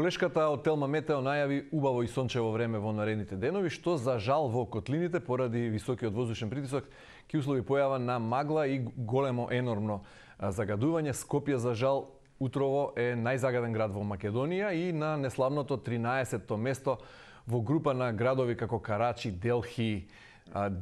Колешката од Телма Метео најави убаво и сончево време во наредните денови, што за жал во котлините поради високиот воздушен притисок ќе услови појава на магла и големо енормно загадување. Скопје за жал утрово е најзагаден град во Македонија и на неславното 13-то место во група на градови како Карачи, Делхи,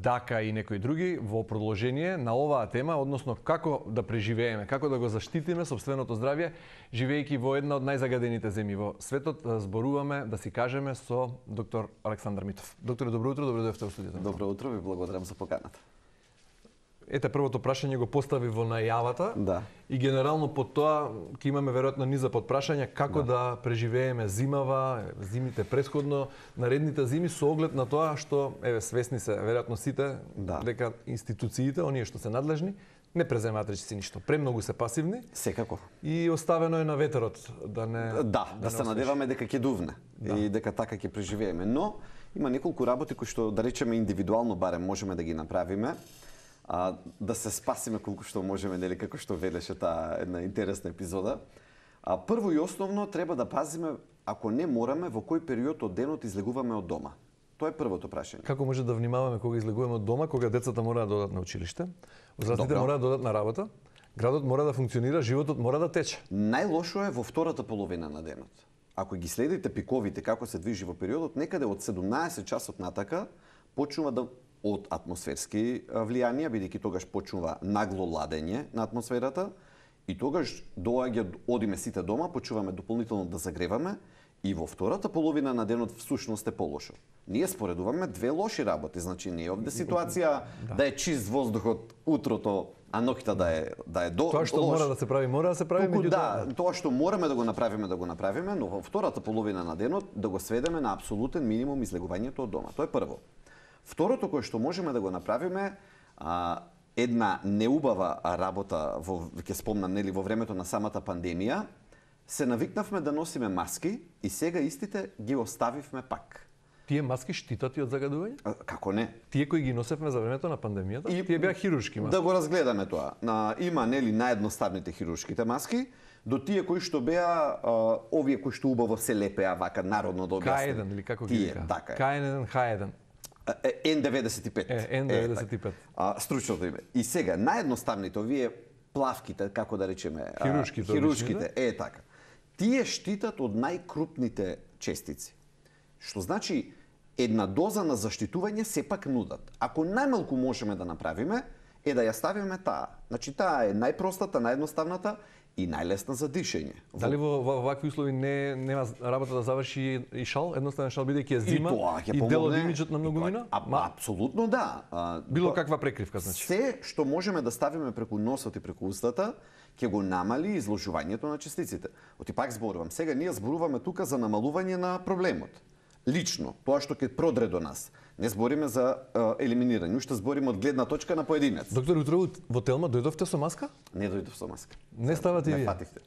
Дака и некои други. Во продолжение на оваа тема, односно како да преживееме, како да го заштитиме сопственото здравје, живеејќи во една од најзагадените земји во светот, зборуваме, да си кажеме, со доктор Александар Митов. Докторе, добро утро, добро дојдовте во студиото. Добро утро, ви благодарам за поканата. Ете, првото прашање го постави во најавата. Да. И генерално по тоа ќе имаме веројатно низа подпрашања како да преживееме зимава, зимите претходно, наредните зими со оглед на тоа што свесни се веројатно сите дека институциите, оние што се надлежни, не преземаат речиси ништо. Премногу се пасивни. Секако. И оставено е на ветерот да не да се надеваме дека ќе дувне и дека така ќе преживееме. Но има неколку работи кои што да речеме индивидуално барем можеме да ги направиме. Да се спасиме колку што можеме, нели, како што велеше таа една интересна епизода. Прво и основно треба да пазиме, ако не мораме, во кој период од денот излегуваме од дома. Тоа е првото прашање. Како може да внимаваме кога излегуваме од дома, кога децата мора да одат на училиште, возрастните мора да одат на работа, градот мора да функционира, животот мора да тече. Најлошо е во втората половина на денот. Ако ги следите пиковите како се движи во периодот, некаде од 17 часот натака почнува да од атмосферски влијанија, бидејќи тогаш почнува нагло ладење на атмосферата и тогаш одиме сите дома, почнуваме дополнително да загреваме и во втората половина на денот всушност е полошо. Ние споредуваме две лоши работи, значи не е овде ситуација да е чист воздухот утрото, а ноќта да е Тоа што мора да се прави, тоа што мораме да го направиме, но во втората половина на денот да го сведеме на апсолутен минимум излегувањето од дома. Тоа е прво. Второто кое што можеме да го направиме, една неубава работа, ќе спомнам, нели, во времето на самата пандемија, се навикнавме да носиме маски и сега истите ги оставивме пак. Тие маски штитат и од загадување? Како не? Тие кои ги носевме за времето на пандемијата, тие беа хируршки маски. Да го разгледаме тоа. Има, нели, наједноставните хируршките маски, до тие кои што беа овие кои што убаво се лепеа вака народно да објасним. К1 или како ги вика? Така е. К1, Х1. N95. N95. Стручното име. И сега, наједноставните, овие плавките, како да речеме, хируршките, така. Тие штитат од најкрупните честици. Што значи, една доза на заштитување сепак нудат. Ако најмалку можеме да направиме, е да ја ставиме таа. Значи, таа е најпростата, наједноставната и најлесна за дишење. Дали во вакви услови нема работа да заврши и шал, едноставен шал, бидејќи е зима и дел од имиџот на многумина? Апсолутно да. Било каква прекривка, значи? Се што можеме да ставиме преку носот и преку устата, ќе го намали изложувањето на частиците. Оти пак зборувам, сега ние зборуваме тука за намалување на проблемот. Лично, тоа што ќе продре до нас. Не збориме за елиминирање, уште збориме од гледна точка на поединец. Доктор, утро во Телма дојдовте со маска? Не дојдов со маска. Не ставате и вие? Не фативте.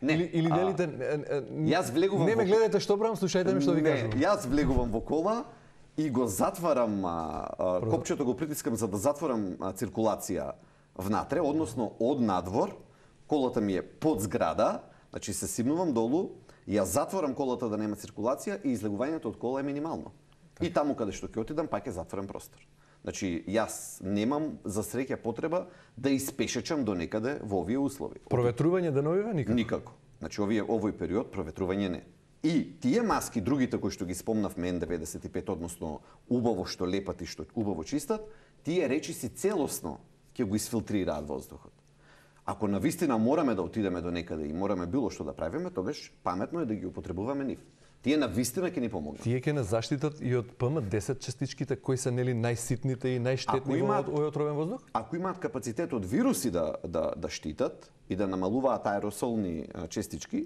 Или делите... Јас влегувам... Не ме гледате што правам, слушајте ми што ви кажувам. Јас влегувам во кола и го затварам, копчето го притискам за да затворам циркулација внатре, односно од надвор, колата ми е под зграда, значи се симнувам долу, јас затворам колата да нема циркулација и излегувањето од кола е минимално. И таму каде што ќе отидам пак е затворен простор. Значи јас немам за среќа потреба да испешечам до некаде во овие услови. Проветрување деновиве никако? Никако. Значи овој период проветрување не. И тие маски, другите кои што ги спомнавме N95, односно убаво што лепат и што убаво чистат, тие речиси целосно ќе го изфилтрираат воздухот. Ако навистина мораме да отидеме до некаде и мораме било што да правиме, тогаш паметно е да ги употребуваме нив. Тие навистина ќе ни помогнат. Тие ќе не заштитат и од PM10 частичките кои се нели најситните и најштетни во овој отровен воздух? Ако имаат капацитет од вируси да штитат и да намалуваат аеросолни частички,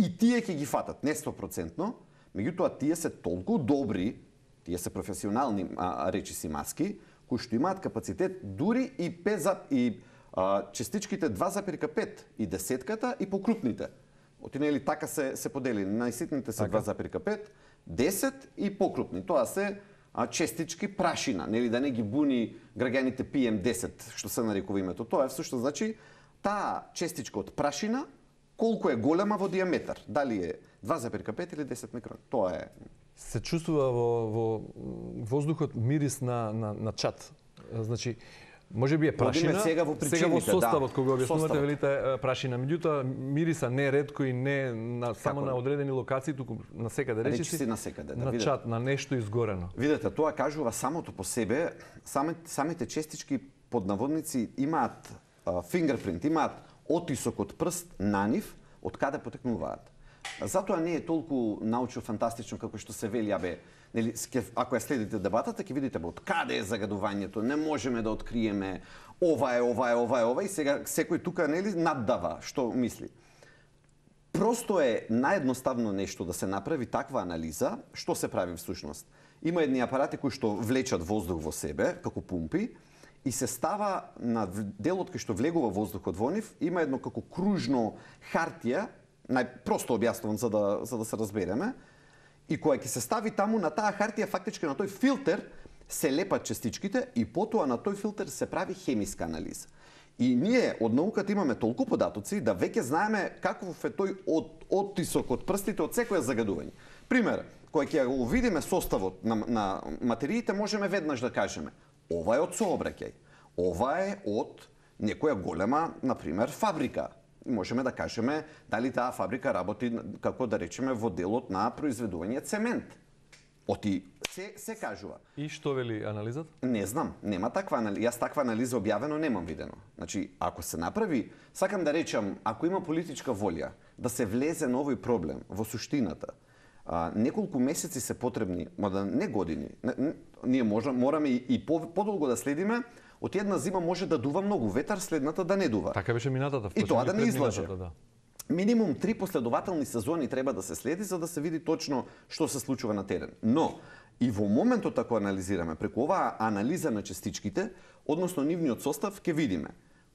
и тие ќе ги фатат, не 100%, меѓутоа тие се толку добри, тие се професионални речиси маски, кои што имаат капацитет дури и частичките 2,5 и десетката и покрупните. Нели така се подели. Најситните се 2,5, 10 и покрупни. Тоа се честички прашина, нели да не ги буни граѓаните PM10, што се нарекува името. Тоа е всушност значи таа честичка од прашина колку е голема во диаметар, дали е 2,5 или 10 микрон. Тоа е. Се чувствува во воздухот мирис на чат. Значи, може би е прашина. Сега во составот, кога објаснувате, составот. велите прашина. Меѓутоа, мириса не ретко и не само на одредени локации, туку на секаде, речиси на секаде, на чат, на нешто изгорено. Видете, тоа кажува самото по себе, самите честички под наводници имаат фингерпринт, имаат отисок од прст на нив, од каде потекнуваат. Затоа не е толку научно-фантастично како што се вели, нели, ако ја следите дебатата, ќе видите од каде е загадувањето, не можеме да откриеме ова е, и сега секој тука нели наддава што мисли. Просто е наједноставно нешто да се направи таква анализа, што се прави всушност. Има едни апарати кои што влечат воздух во себе, како пумпи, и се става на делот кај што влегува воздухот во нив, има едно како кружно хартија, најпросто објаснувам за да се разбереме, и која ќе се стави таму на таа хартија, фактички на тој филтер се лепат частичките и потоа на тој филтер се прави хемиска анализа. И ние од науката имаме толку податоци да веќе знаеме каков е тој оттисок од прстите од секоја загадување. Пример, кога ќе го видиме составот на материите, можеме веднаш да кажеме ова е од сообраќај, ова е од некоја голема, например, фабрика. Можеме да кажеме дали таа фабрика работи, како да речеме, во делот на произведување цемент. Се кажува. И што вели анализата? Не знам, нема таква анализа. Јас таква анализа објавено немам видено. Значи, ако се направи, сакам да речам, ако има политичка волја да се влезе на овој проблем во суштината, неколку месеци се потребни, мада не години. Ние мораме и подолго да следиме. Од една зима може да дува многу ветар, следната да не дува. Така беше минатата. И тоа да не излаже. Да. Минимум 3 последователни сезони треба да се следи за да се види точно што се случува на терен. Но и во моментот ако анализираме преку оваа анализа на частичките, односно нивниот состав, ќе видиме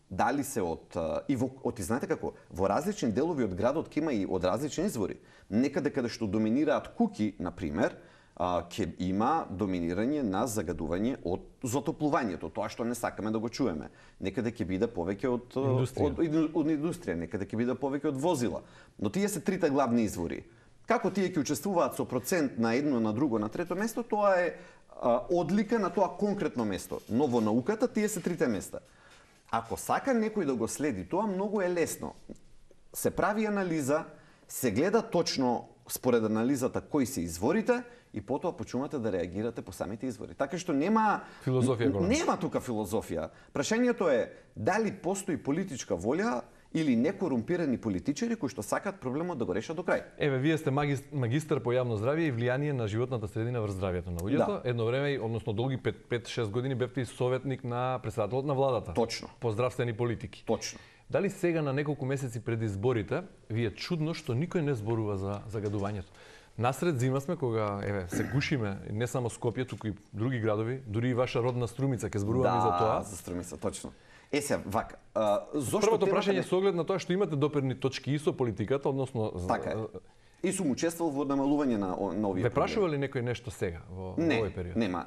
дали се од знаете како, во различни делови од градот ќе има и од различни извори. Некаде каде што доминираат куки, на пример, ќе има доминирање на загадување од затоплувањето, тоа што не сакаме да го чуеме. Некаде ќе биде повеќе од индустрија, некаде ќе биде повеќе од возила. Но тие се трите главни извори. Како тие ќе учествуваат со процент на едно, на друго, на трето место, тоа е одлика на тоа конкретно место. Но во науката тие се трите места. Ако сака некој да го следи, тоа многу е лесно. Се прави анализа, се гледа точно според анализата кои се изворите и потоа почнувате да реагирате по самите извори. Така што нема тука филозофија. Прашањето е дали постои политичка волја или некорумпирани политичари кои што сакаат проблемот да го решат до крај. Еве, вие сте магистар по јавно здравје и влијание на животната средина врз здравјето на луѓето. Да. Едно време, односно долги 5-6 години бевте и советник на претседателот на владата. Точно. По здравствени политики. Точно. Дали сега на неколку месеци пред изборите ви е чудно што никој не зборува за загадувањето? Насред зима сме кога се гушиме не само Скопје, туку и други градови, дури и ваша родна Струмица ќе зборуваме за тоа. Да, за Струмица, точно. Се, вака, зошто првото прашање со оглед на тоа што имате доперни точки и со политиката, односно така е. И сум учествувал во намалување на овие. Ве прашува ли некој нешто сега во овој период? Нема.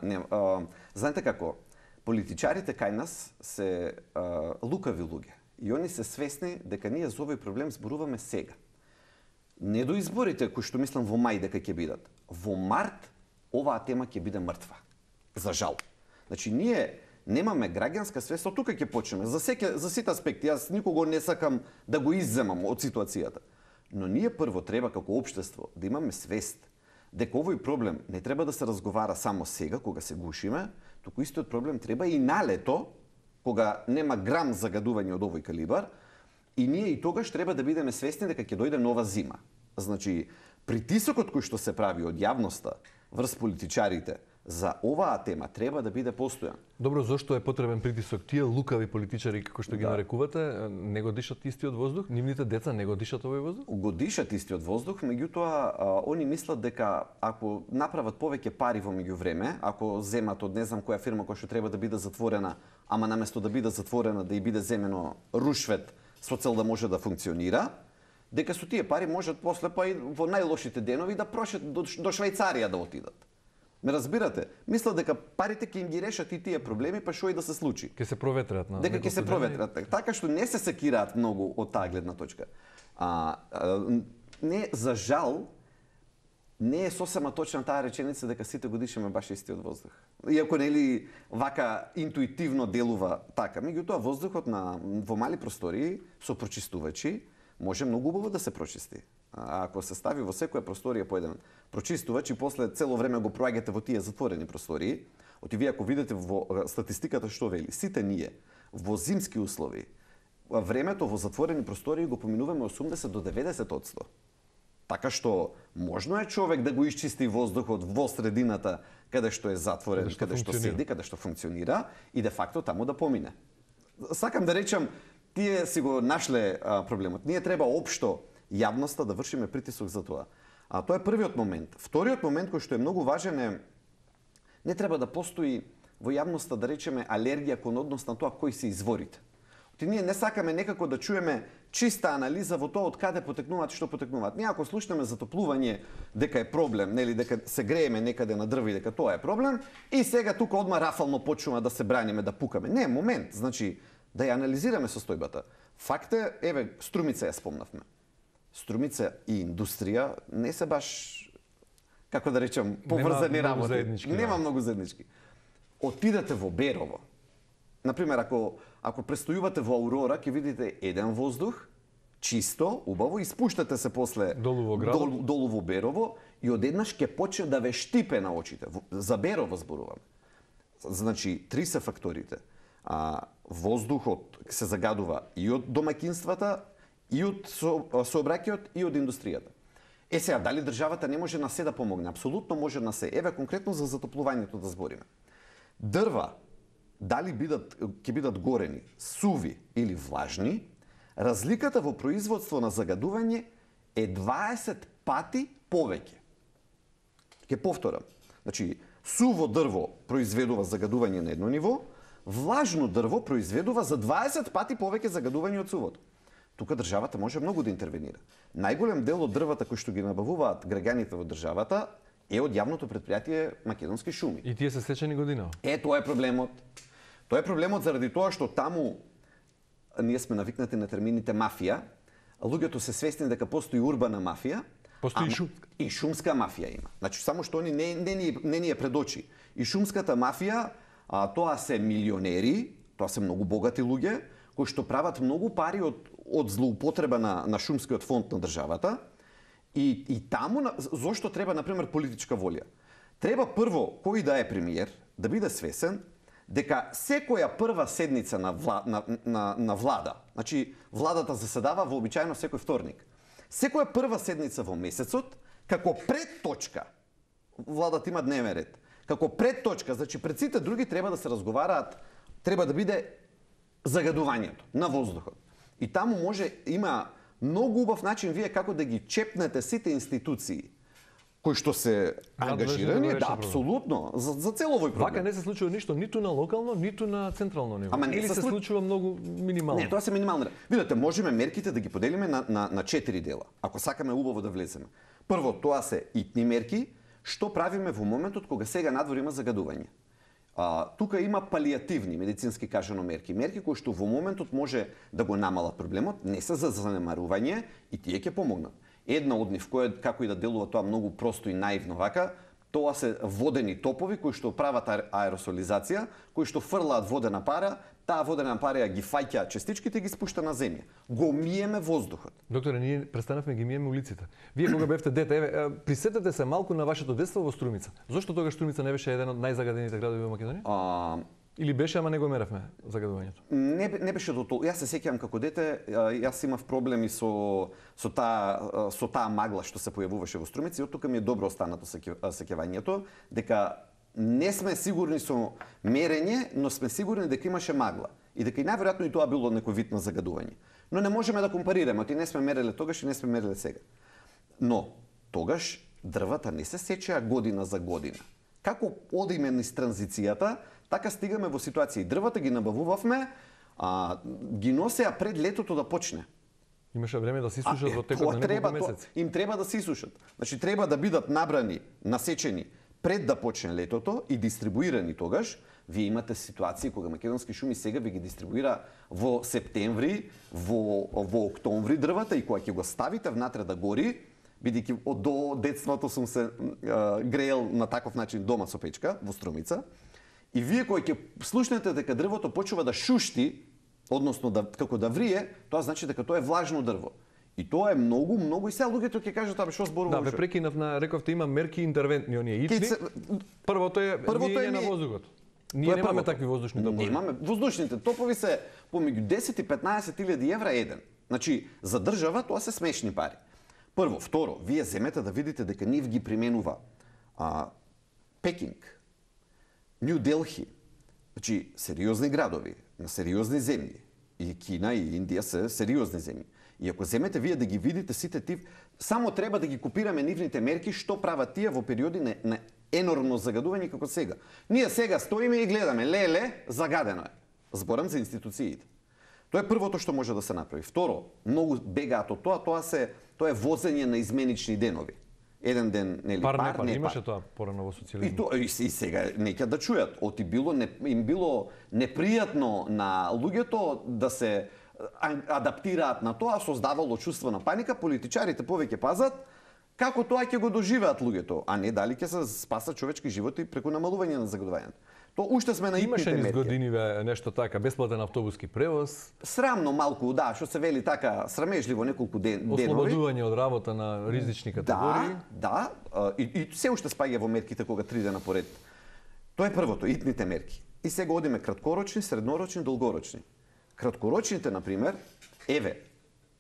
Знаете како, политичарите кај нас се лукави луѓе. И они се свесни дека ние за овој проблем зборуваме сега. Не до изборите кои што мислам во мај дека ќе бидат. Во март оваа тема ќе биде мртва. За жал. Значи ние немаме граѓанска свест, од тука ќе почнеме. За сите аспекти, јас никого не сакам да го изземам од ситуацијата. Но ние прво треба како општество да имаме свест дека овој проблем не треба да се разговара само сега кога се гушиме, туку истиот проблем треба и на лето, кога нема грам загадување од овој калибар, и ние и тогаш треба да бидеме свесни дека ќе дојде нова зима. Значи, притисокот кој што се прави од јавноста врз политичарите за оваа тема треба да биде постојан. Добро, зошто е потребен притисок? Тие лукави политичари, како што ги нарекувате, не го дишат истиот воздух? Нивните деца не го дишат овој воздух? Го дишат истиот воздух, меѓутоа они мислат дека ако направат повеќе пари во меѓувреме, ако земат од не знам која фирма која што треба да биде затворена, ама наместо да биде затворена да и биде земено рушвет со цел да може да функционира, дека со тие пари можат после па и во најлошите денови да прошат до Швајцарија да отидат. Ме разбирате? Мислат дека парите ќе им ги решат и тие проблеми, па што и да се случи. Ќе се проветрат на дека ќе се проветрат. Така што не се секираат многу од таа гледна точка. Не, за жал, не е сосема точна таа реченица дека сите го дишаме баш истиот воздух. Иако нели вака интуитивно делува така, меѓутоа воздухот во мали простории со прочистувачи може многу убаво да се прочисти. Ако се стави во секоја просторија по еден прочистувач и после цело време го проаѓате во тие затворени простории, вие ако видите во статистиката што вели, сите ние во зимски услови времето во затворени простории го поминуваме 80 до 90%. Така што можно е човек да го исчисти воздухот во средината каде што е затворен, каде што седи, каде што функционира и де факто таму да помине. Сакам да речам, тие си го нашле проблемот. Ние треба општо јавноста да вршиме притисок за тоа. Тоа е првиот момент. Вториот момент кој што е многу важен е не треба да постои во јавноста да речеме алергија кон однос на тоа кои се изворите. Ние не сакаме некако да чуеме чиста анализа во тоа од каде потекнуваат и што потекнуваат. Ние ако слушнеме затоплување дека е проблем, нели дека се грееме некаде на дрви дека тоа е проблем и сега тука одма рафално почнува да се браниме, да пукаме. Не, момент, значи да ја анализираме состојбата. Факт е, еве, Струмица ја спомнавме. Струмица и индустрија не се баш, како да речем, поврзани работи. Нема многу заеднички. Отидете во Берово. Например, ако престојувате во Аурора, ќе видите еден воздух, чисто, убаво, и спуштате се после долу во Берово и одеднаш ќе почне да ве штипе на очите. За Берово зборувам. Значи, три се факторите. Воздухот се загадува и од домаќинствата, и од сообраќајот, и од индустријата. Сега, дали државата не може на се да помогне? Апсолутно може на се. Еве, конкретно за затоплувањето да збориме. Дрва, дали ќе бидат горени, суви или влажни, разликата во производство на загадување е 20 пати повеќе. Ќе повторам. Значи, суво дрво произведува загадување на едно ниво, влажно дрво произведува за 20 пати повеќе загадување од сувото. Тука државата може многу да интервенира. Најголем дел од дрвата кои што ги набавуваат граѓаните во државата е од јавното претпријатие Македонски шуми. И тие се сечени година. Тоа е проблемот. Тоа е проблемот заради тоа што таму ние сме навикнати на термините мафија. Луѓето се свесни дека постои урбана мафија, постои шумска. И шумска мафија има. Значи само што они не ни е пред очи. И шумската мафија, тоа се милионери, тоа се многу богати луѓе кои што прават многу пари од злоупотреба на шумскиот фонд на државата. И таму зошто треба на пример политичка волја? Треба прво кој да е премиер да биде свесен дека секоја прва седница на влада, значи владата заседава вообичаено секој вторник. Секоја прва седница во месецот, како пред точка, владата има дневен ред. Како пред точка, значи пред сите други треба да се разговараат, треба да биде загадувањето на воздухот. И таму има многу убав начин вие како да ги чепнете сите институции кои што се ангажирани, да, апсолутно, за цел овој проблем. Вака не се случува ништо ниту на локално, ниту на централно ниво. Или се случува многу минимално? Не, тоа се минимално. Видете, можеме мерките да ги поделиме на 4 дела, ако сакаме убаво да влеземе. Прво, тоа се итни мерки, што правиме во моментот кога сега надвор има загадување. Тука има палијативни, медицински кажано мерки. Мерки кои што во моментот може да го намалат проблемот, не се за занемарување и тие ќе помогнат. Една од нив, која како и да делува тоа многу просто и наивно вака, тоа се водени топови кои што прават аеросолизација, кои што фрлаат водена пара, таа водена пара ги фаќа частичките и ги спушта на земја. Го миеме воздухот. Докторе, ние престанавме ги миеме улиците. Вие кога бевте дете, еве, присетете се малку на вашето детство во Струмица. Зошто тогаш Струмица не беше еден од најзагадените градови во Македонија? Или беше, ама не го меравме загадувањето? Не беше до тоа. Јас се сеќавам како дете, јас имав проблеми со таа магла што се појавуваше во Струмица и од тука ми е добро останато сеќавањето дека не сме сигурни со мерење, но сме сигурни дека имаше магла и дека и најверојатно и тоа било некој вид на загадување. Но не можеме да компарираме, оти не сме мереле тогаш и не сме мереле сега. Но тогаш дрвата не се сечеа година за година. Како одиме низ транзицијата, така стигаме во ситуација и дрвата ги набавувавме, ги носеа пред летото да почне. Имаше време да се исушат во текот на неколку месеци. Им треба да се исушат. Значи треба да бидат набрани, насечени пред да почне летото и дистрибуирани тогаш, вие имате ситуации кога Македонски шуми сега ви ги дистрибуира во септември, во октомври дрвата и кога ќе го ставите внатре да гори, бидејќи до детството сум се греел на таков начин дома со печка во Струмица, и вие кога ќе слушнете дека дрвото почува да шушти, односно како да врие, тоа значи дека тоа е влажно дрво. И тоа е многу и сега луѓето ќе кажат абе што зборуваш. Да, ве прекинав на рековте има мерки интервентни оние итни. Првото е миење на воздухот. Ние немаме такви воздушни топови. Немаме. Воздушните топови се помеѓу 10 и 15.000 евра еден. Значи, за држава тоа се смешни пари. Прво, второ, вие земете да видите дека нив ги применува Пекинг, Нью Делхи, значи сериозни градови, на сериозни земји. И Кина и Индија се сериозни земји. И ако земете вие да ги видите сите тив, само треба да ги копираме нивните мерки што прават тие во периоди на енормно загадување како сега. Ние сега стоиме и гледаме, леле, загадено е. Зборам за институциите. Тоа е првото што може да се направи. Второ, многу бегаат од тоа, тоа е возење на изменични денови. Еден ден, нели, пар, имаше тоа порано во социјализмот. И сега неќе да чујат, им било непријатно на луѓето да се адаптираат на тоа, создавало чувство на паника, политичарите повеќе пазат како тоа ќе го доживеат луѓето, а не дали ќе се спасат човечки животи преку намалување на загадувањето. Тоа уште сме на итните мерки. Имаше низ годиниве нешто така, бесплатен автобуски превоз. Срамно малку, да, што се вели така, срамежливо неколку денови. Ослободување од работа на ризични категории. Да, и се уште спаѓа во мерките кога 3 дена поред. Тоа е првото, итните мерки. И сега одиме краткорочни, среднорочни, долгорочни. Краткорочните, например,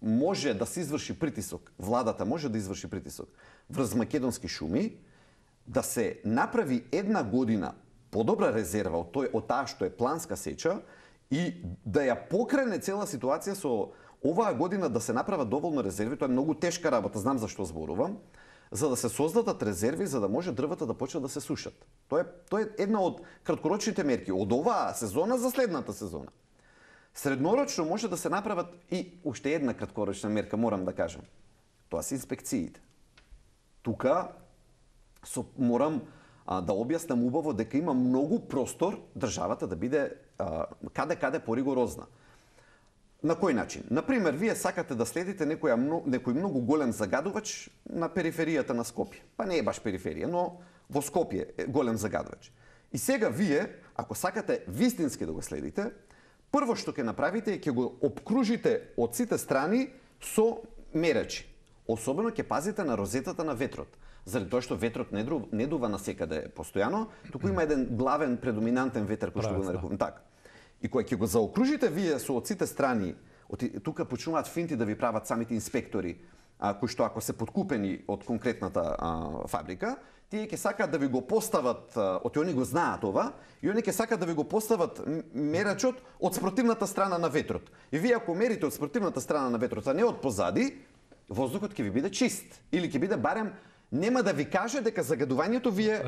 може да се изврши притисок, владата може да изврши притисок врз Македонски шуми, да се направи една година подобра резерва од таа што е планска сеча и да ја покрене цела ситуација со оваа година да се направат доволно резерви. Тоа е многу тешка работа, знам за што зборувам, за да се создадат резерви за да може дрвата да почнат да се сушат. Тоа е една од краткорочните мерки од оваа сезона за следната сезона. Среднорочно може да се направат и уште една краткорочна мерка, морам да кажам. Тоа се инспекциите. Тука морам да објаснам убаво дека има многу простор државата да биде каде поригорозна. На кој начин? Например, вие сакате да следите некој многу голем загадувач на периферијата на Скопје. Па не е баш периферија, но во Скопје е голем загадувач. И сега вие, ако сакате вистински да го следите, прво што ќе направите е ќе го опкружите од сите страни со мерачи. Особено ќе пазите на розетата на ветрот. Заради тоа што ветрот не дува насекаде постојано, туку има еден главен предоминантен ветер кој што го нарекувам така. И кога ќе го заокружите вие со од сите страни, тука почнуваат финти да ви прават самите инспектори, кои што ако се подкупени од конкретната фабрика, тие ќе сакаат да ви го постават, они го знаат ова, и они ќе сакаат да ви го постават мерачот од спротивната страна на ветрот. И вие ако мерите од спротивната страна на ветрот, а не од позади, воздухот ќе ви биде чист. Или ќе биде барем, нема да ви каже дека загадувањето ви е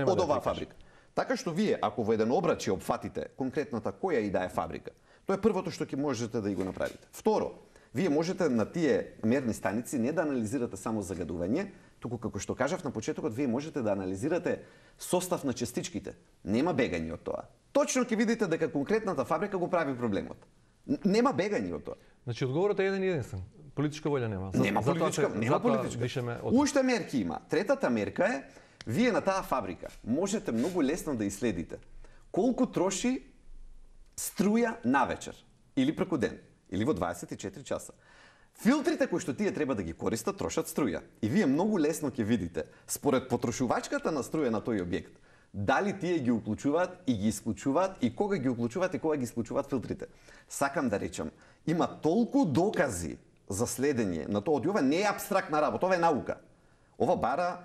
од оваа фабрика. Така што вие, ако во еден обрачи опфатите конкретната која и да е фабрика, тоа е првото што ќе можете да го направите. Второ, вие можете на тие мерни станици не да анализирате само загадување, туку како што кажав на почетокот, вие можете да анализирате состав на частичките. Нема бегање од тоа. Точно ќе видите дека конкретната фабрика го прави проблемот. Нема бегање од тоа. Значи одговорот е еден и единствен. Политичка волја нема. Нема политичка. Уште мерки има. Третата мерка е, вие на таа фабрика можете многу лесно да исследите колку троши струја навечер или преку ден, или во 24 часа. Филтрите кои што тие треба да ги користат трошат струја. И вие многу лесно ќе видите, според потрошувачката на струја на тој објект, дали тие ги уклучуваат и ги исклучуваат и кога ги уклучуваат и кога ги исклучуваат филтрите. Сакам да речам, има толку докази за следење на тоа. Ова не е апстрактна работа, ова е наука. Ова бара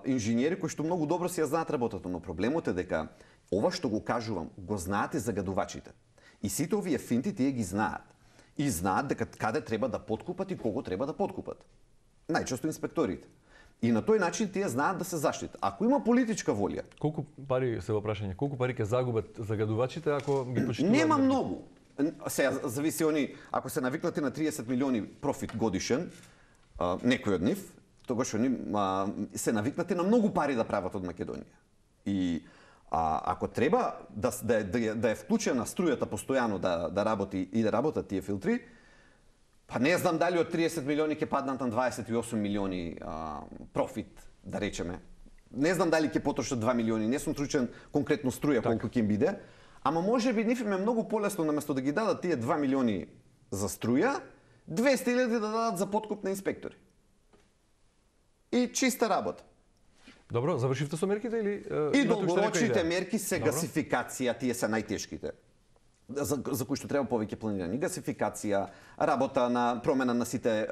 инженери кои што многу добро си ја знаат работата, но проблемот е дека ова што го кажувам, го знаат и загадувачите. И сите овие финти тие ги знаат. И знаат дека каде треба да подкупат и кого треба да подкупат. Најчесто инспекторите. И на тој начин тие знаат да се заштитат. Ако има политичка волја... Колку пари се во прашање? Колку пари ќе загубат загадувачите ако ги почитуваат? Нема многу. Сега зависи ако се навикнати на 30 милиони профит годишен, некој од нив, тогаш они се навикнати на многу пари да прават од Македонија. И ако треба да е вклучена струјата постојано да работи и да работат тие филтри, па не знам дали од 30 милиони ќе паднат на 28 милиони профит, да речеме. Не знам дали ќе потрошат 2 милиони, не сум случен конкретно струја колку ќе им биде, ама можеби нив им е многу полесно наместо да ги дадат тие 2 милиони за струја, 200.000 да дадат за подкуп на инспектори. И чиста работа. Добро, завршивте со мерките или и долгорочните мерки се гасификација, тие се најтешките. За кои што треба повеќе планирање. Гасификација, работа на промена на сите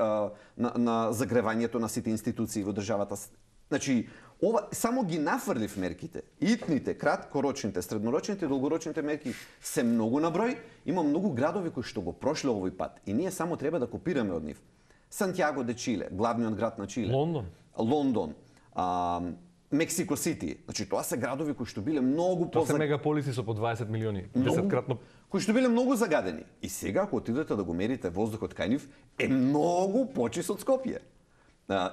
на загревањето на сите институции во државата. Значи, ова само ги нафрлив мерките. Итните, краткорочните, среднорочните и долгорочните мерки се многу на број. Има многу градови кои што го прошле овој пат и ние само треба да копираме од нив. Сантјаго де Чиле, главниот град на Чиле. Лондон. Мексико Сити. Значи тоа се градови кои што биле многу Тоа се мегаполиси со по 20 милиони, 10-кратно. Кои што биле многу загадени. И сега ако отидете да го мерите воздухот кај нив, е многу почист од Скопје.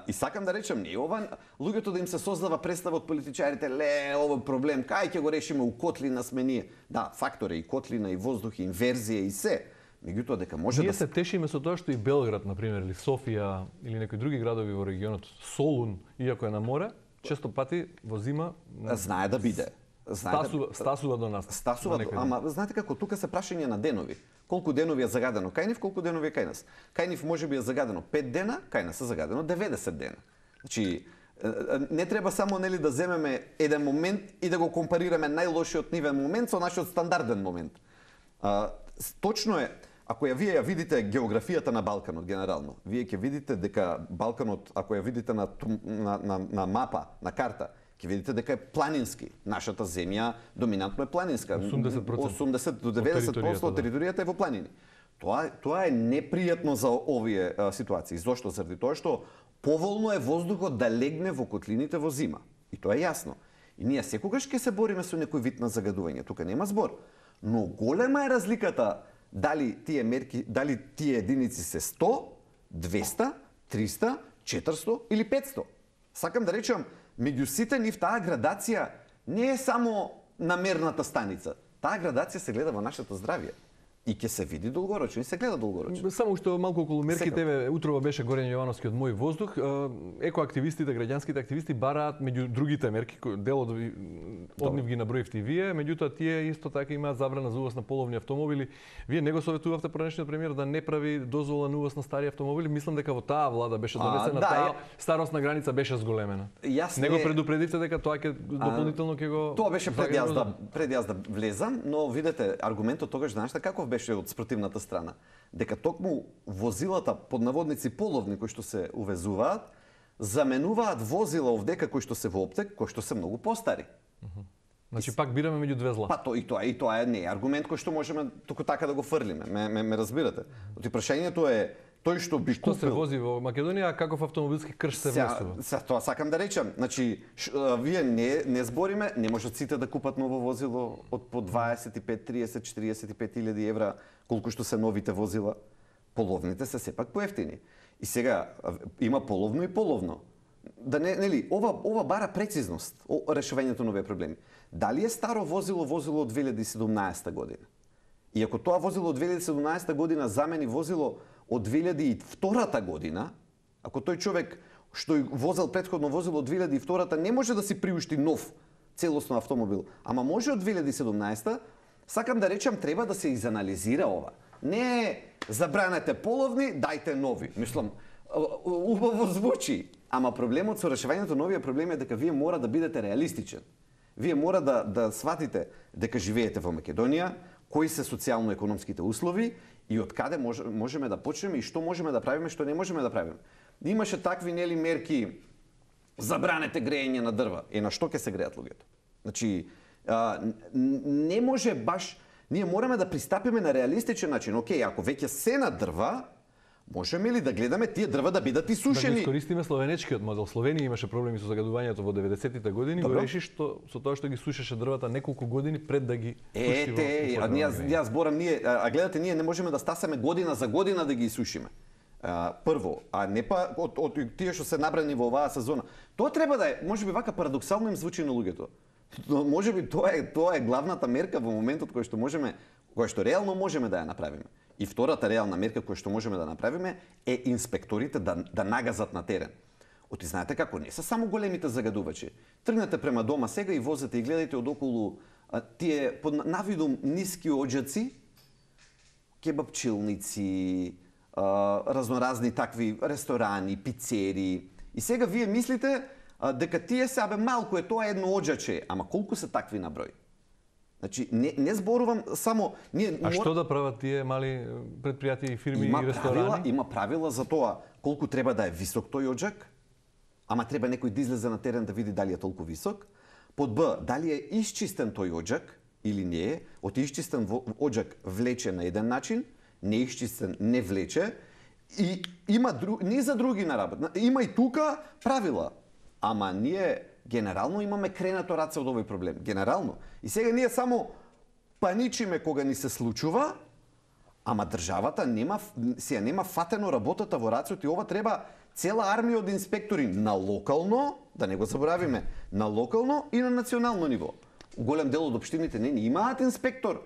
И сакам да речем, не ова луѓето да им се создава представа од политичарите, овој проблем, кај ќе го решиме, у котлина сме ние. Да, фактори, и котлина, и воздух, и инверзија, и се. Меѓутоа дека може ние се тешиме со тоа што и Белград, например, или Софија, или некои други градови во регионот, Солун, иако е на море, често пати во зима знае да биде. Стасува до нас. Стасува, ама знаете како, тука се прашање на денови. Колку денови е загадено кај нив, колку денови е кај нас. Кај нив можеби е загадено 5 дена, кај нас е загадено 90 дена. Значи, не треба само нели да земеме еден момент и да го компарираме најлошиот нивен момент со нашиот стандарден момент. Точно е, ако вие ја видите географијата на Балканот генерално, вие ќе видите дека Балканот, ако ја видите на мапа, на карта, ќе видите дека е планински. Нашата земја доминантно е планинска. 80 до 90% од територијата е во планини. Тоа е непријатно за овие ситуации. Зошто? Заради тоа што поволно е воздухот да легне во котлините во зима. И тоа е јасно. И ние секогаш ќе се бориме со некој вид на загадување. Тука нема збор. Но голема е разликата дали тие мерки, дали тие единици се 100, 200, 300, 400 или 500. Сакам да речам, меѓу сите нив таа градација не е само на мерната станица. Таа градација се гледа во нашето здравје. И ќе се види долгорочно, и се гледа долгорочно. Само што малку околу мерките, утрово беше Горен Јовановски од Мој воздух, екоактивистите, граѓанските активисти бараат меѓу другите мерки, дел од нив ги наброивте вие, меѓутоа тие исто така имаат забрана за увоз на половни автомобили. Вие не го советувавте пранешниот премиер да не прави дозвола на увоз на стари автомобили? Мислам дека во таа влада беше донесена, таа старосна граница беше зголемена. Не го предупредивте дека тоа ќе дополнително ќе го... Тоа беше пред јас да влезам, но видете, аргументот тогаш знаеш каков беше од спротивната страна, дека токму возилата под наводници половни кои што се увезуваат, заменуваат возила овдека кои што се во оптек, кои што се многу постари. Значи пак бираме меѓу две зла. Па тоа е не аргумент кој што можеме туку така да го фрлиме. Ме разбирате. Оти прашањето е тој што би купил... Што се вози во Македонија, а каков автомобилски крш се внесува? Тоа сакам да речам. Значи, вие не збориме, не можат сите да купат ново возило од по 25, 30, 45 илјади евра, колку што се новите возила. Половните се сепак поевтини. И сега има половно и половно. Да нели, ова бара прецизност, решувањето на овие проблеми. Дали е старо возило од 2017 година? И ако тоа возило од 2017 година замени возило од 2002 година, ако тој човек што возел претходно возило од 2002 не може да си приушти нов целосно автомобил, ама може од 2017, сакам да речам треба да се изанализира ова. Не забранете половни, дајте нови. Мислам, убаво звучи, ама проблемот со решавањето на овие проблеми е дека вие мора да бидете реалистичен. Вие мора да сватите дека живеете во Македонија, кои се социјално-економските услови и од каде можеме да почнеме и што можеме да правиме, што не можеме да правиме. Имаше такви нели мерки, забранете грејење на дрва. На што ќе се греат луѓето? Значи, не може баш, ние мораме да пристапиме на реалистичен начин. Океј, ако веќе се на дрва, можеме ли да гледаме тие дрва да бидат исушени? Да ги искористиме словенечкиот модел. Словенија имаше проблеми со загадувањето во 90-тите години, го реши со тоа што ги сушеше дрвата неколку години пред да ги пушти во јас зборам ние, гледате, ние не можеме да стасаме година за година да ги исушиме. прво, а не па од тие што се набрани во оваа сезона. Тоа треба да е, можеби вака парадоксално им звучи на луѓето. Можеби тоа е главната мерка во моментот кој што реално можеме да ја направиме. И втората реална мерка која што можеме да направиме е инспекторите да нагазат на терен. Оти знаете како, не се само големите загадувачи. Тргнете према дома сега и возете и гледате одоколу тие под навидом ниски оџаци, кебапчилници, разноразни такви ресторани, пицери. И сега вие мислите дека тие се малку е тоа едно оџаче, ама колку се такви на број? Значи не зборувам само што да прават тие мали предпријатија и фирми и ресторани? Има правила за тоа колку треба да е висок тој оџак, ама треба некој да излезе на терен да види дали е толку висок. Под Б, дали е исчистен тој оџак или не е. Од исчистен оџак влече на еден начин, неисчистен не влече. И има не за други на работа. Има и тука правила. Ама ние генерално имаме кренато раце од овој проблем. Генерално. И сега ние само паничиме кога ни се случува, ама државата нема фатено работата во рацот и ова треба цела армија од инспектори на локално, да не го заборавиме, на локално и на национално ниво. Голем дел од општините не имаат инспектор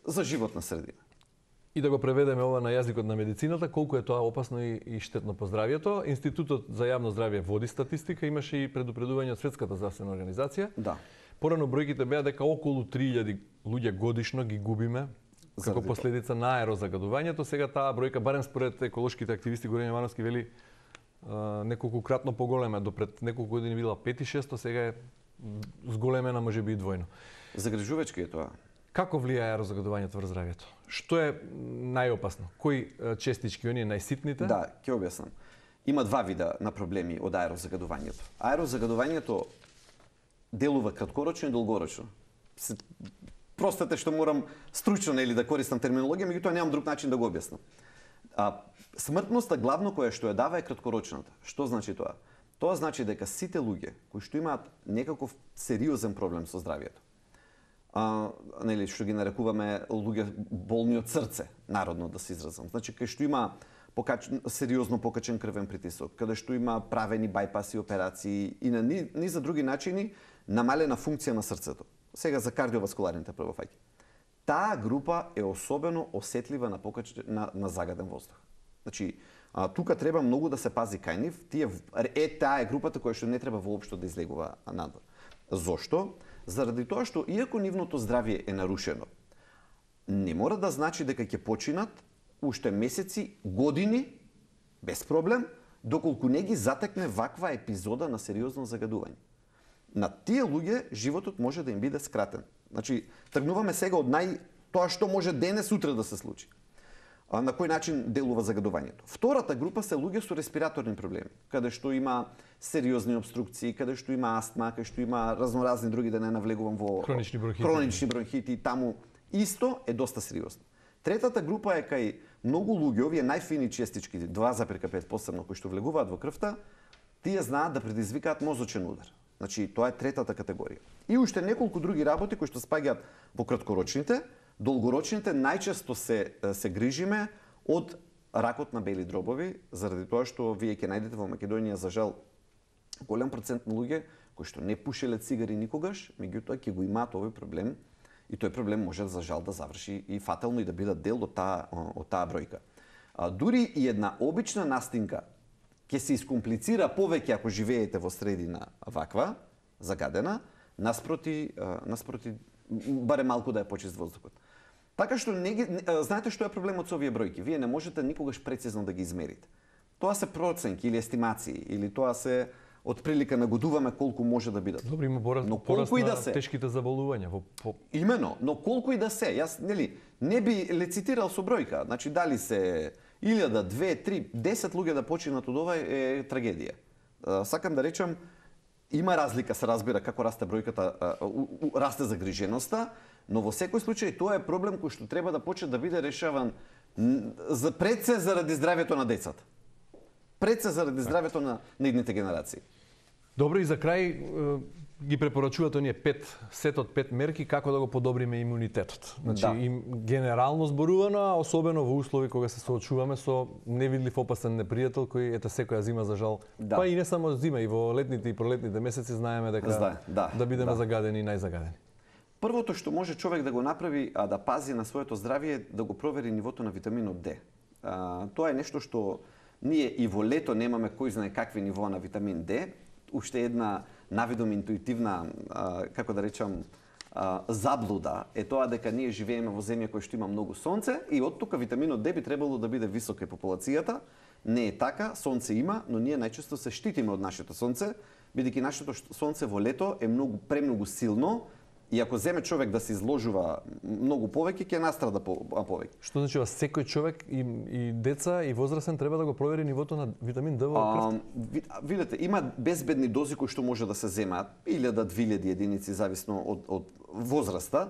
за животна средина. И да го преведеме ова на јазикот на медицината, колку е тоа опасно и штетно по здравјето. Институтот за јавно здравје води статистика, имаше и предупредување од Светската здравствена организација. Да. Порано бројките беа дека околу 3000 луѓе годишно ги губиме како последица на аерозагадувањето. Сега таа бројка, барем според еколошките активисти, Горан Јовановски вели неколкукратно поголема. До пред неколку години била 5-600, сега е зголемена можеби и двојно. Загрижувачки е тоа. Како влијае аерозагадувањето врз здравјето? Што е најопасно? Кои честички, оние најситните? Да, ќе објаснам. Има два вида на проблеми од аерозагадувањето. Аерозагадувањето делува краткорочно и долгорочно. Простете што морам стручно или да користам терминологија, меѓутоа немам друг начин да го објаснам. Смртноста главно која што ја дава е краткорочната. Што значи тоа? Тоа значи дека сите луѓе кои што имаат некаков сериозен проблем со здравјето, што ги нарекуваме луѓе болни од срце, народно да се изразам. Значи кај што има сериозно покачен крвен притисок, каде што има правени бајпаси операции и на низа други начини намалена функција на срцето. Сега за кардиоваскуларните првофаќи. Таа група е особено осетлива на загаден воздух. Значи, тука треба многу да се пази кај нив. Таа е групата која што не треба воопшто да излегува надвор. Зошто? Заради тоа што иако нивното здравје е нарушено, не мора да значи дека ќе починат уште месеци, години без проблем, доколку не ги затекне ваква епизода на сериозно загадување. На тие луѓе животот може да им биде скратен. Значи, тргнуваме сега од тоа што може денес утре да се случи. На кој начин делува загадувањето. Втората група се луѓе со респираторни проблеми, каде што има сериозни обструкции, каде што има астма, каде што има разноразни други, да не навлегувам во хронични бронхити, таму исто е доста сериозно. Третата група е кај многу луѓе, овие најфини честички, 2,5 посебно, кои што влегуваат во крвта, тие знаат да предизвикаат мозочен удар. Значи, тоа е третата категорија. И уште неколку други работи кои што спаѓаат во краткорочните, долгорочните најчесто се грижиме од ракот на бели дробови, заради тоа што вие ќе најдете во Македонија, за жал, голем процент на луѓе кои што не пушеле цигари никогаш, меѓутоа ќе го имаат овој проблем и тој проблем може за жал да заврши и фатално и да бидат дел од таа бројка. Дури и една обична настинка ќе се искомплицира повеќе ако живеете во средина ваква, загадена, наспроти барем малку да е почист воздухот. Така што знаете што е проблемот со овие бројки? Вие не можете никогаш прецизно да ги измерите. Тоа се проценки или естимации, или тоа се отприлика нагодуваме колку може да бидат. Добро, има пораст на тешките заболувања. Имено, но колку и да се, јас не би лецитирал со бројка. Значи дали се 1000, 2, 3, 10 луѓе да починат од ова е трагедија. Сакам да речам, има разлика, се разбира како расте бројката, расте загриженоста, но во секој случај тоа е проблем кој што треба да почне да биде решаван пред се заради здравјето на децата. Пред се заради здравјето на идните генерации. Добро, и за крај, ги препорачуваат оние сетот 5 мерки како да го подобриме имунитетот. Значи, генерално зборувано, а особено во услови кога се соочуваме со невидлив опасен непријател кој секоја зима за жал, па и не само зима, и во летните и пролетните месеци знаеме дека да бидеме загадени и најзагадени. Првото што може човек да го направи, а да пази на своето здравје, е да го провери нивото на витаминот Д. Тоа е нешто што ние и во лето немаме кој знае какви нивоа на витамин Д. Уште една навидом интуитивна, како да речам, заблуда е тоа дека ние живееме во земја која што има многу сонце и од тука витаминот Д би требало да биде висок е популацијата. Не е така, сонце има, но ние најчесто се штитиме од нашето сонце, бидејќи нашето сонце во лето е премногу силно. И ако земе човек да се изложува многу повеќе, ќе настрада повеќе. Што значи секој човек и деца и возрастен треба да го провери нивото на витамин Д во крвта? Видете, има безбедни дози кои што може да се земаат, 1000-2000 единици зависно од возраста,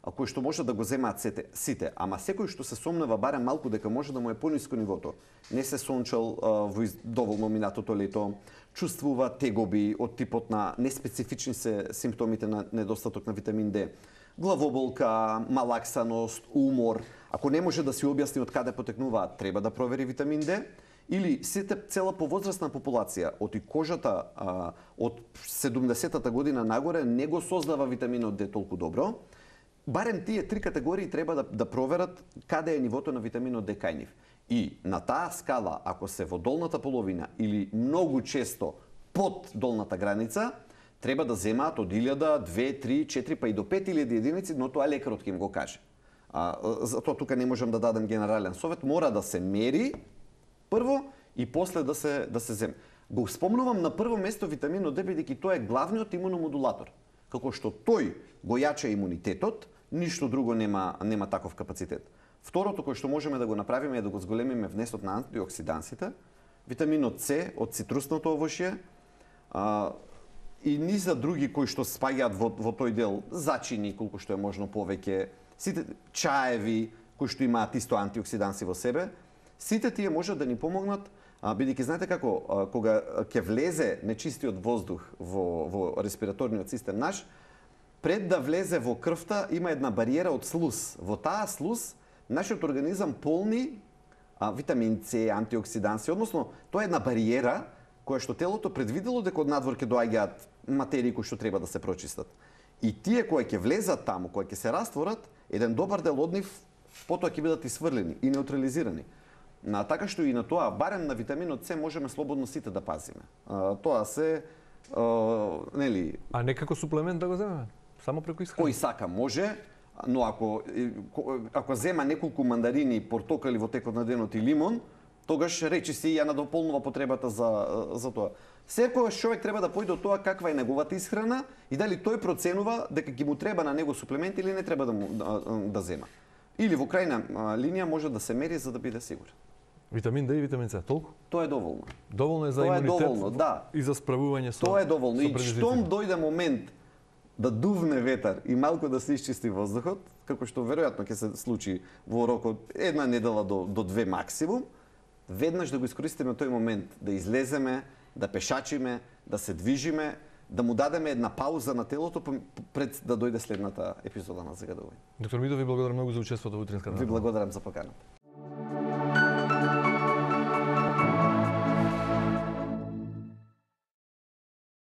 кои што може да го земаат сите. Ама секој што се сомнува барем малку дека може да му е пониско нивото, не се сончал во доволно минатото лето, чувствува тегоби од типот на неспецифични се симптомите на недостаток на витамин Д, главоболка, малаксаност, умор. Ако не може да си објасни од каде потекнуваат, треба да провери витамин Д. Или цела повозрастна популација, од и кожата од 70-та година нагоре не го создава витаминот Д толку добро. Барем тие три категории треба да проверат каде е нивото на витаминот Д кај нив. И на таа скала, ако се во долната половина или многу често под долната граница, треба да земаат од 1000, 2, 3, 4, па и до 5000 единици, но тоа лекарот ќе им го каже. Затоа тука не можам да дадам генерален совет, мора да се мери прво и после да се земе. Го спомнувам на прво место витаминот Д, бидејќи тоа е главниот имуномодулатор. Како што тој го јача имунитетот, ништо друго нема таков капацитет. Второто кој што можеме да го направиме е да го зголемиме внесот на антиоксидансите, витаминот С од цитрусното овошје и низа други кои што спаѓаат во тој дел, зачини колку што е можно повеќе, сите чаеви кои што имаат исто антиоксиданси во себе, сите тие можат да ни помогнат, бидејќи знаете како кога ќе влезе нечистиот воздух во респираторниот систем наш, пред да влезе во крвта има една бариера од слуз. Во таа слуз нашиот организам полни витамин С, антиоксиданси, односно тоа е една бариера која што телото предвидело дека од надвор ќе доаѓаат материи кои што треба да се прочистат. И тие кои ќе влезат таму, кои ќе се растворат, еден добар дел од нив потоа ќе бидат исфрлени и неутрализирани. Така што и на тоа, барем на витаминот С можеме слободно сите да пазиме. Тоа се нели, а не како суплемент да го земеме? Само преку исхрана? Кој сака може, но ако зема неколку мандарини, портокали во текот на денот и лимон, тогаш речи си ја надополнува потребата за тоа. Секогаш човек треба да појде од тоа каква е неговата исхрана и дали тој проценува дека ќе му треба на него суплемент или не треба да зема. Или во крајна линија може да се мери за да биде сигурен. Витамин Д и витамин С, толку? Тоа е доволно. Доволно е за имунитет и за справување со. Тоа е доволно. И штом дојде момент да дувне ветар и малку да се исчисти воздухот, како што веројатно ќе се случи во рокот една недела до две максимум, веднаш да го искористиме тој момент, да излеземе, да пешачиме, да се движиме, да му дадеме една пауза на телото пред да дојде следната епизода на загадување. Доктор Мидов, ви благодарам многу за учеството во утринската. Ви благодарам за поканата.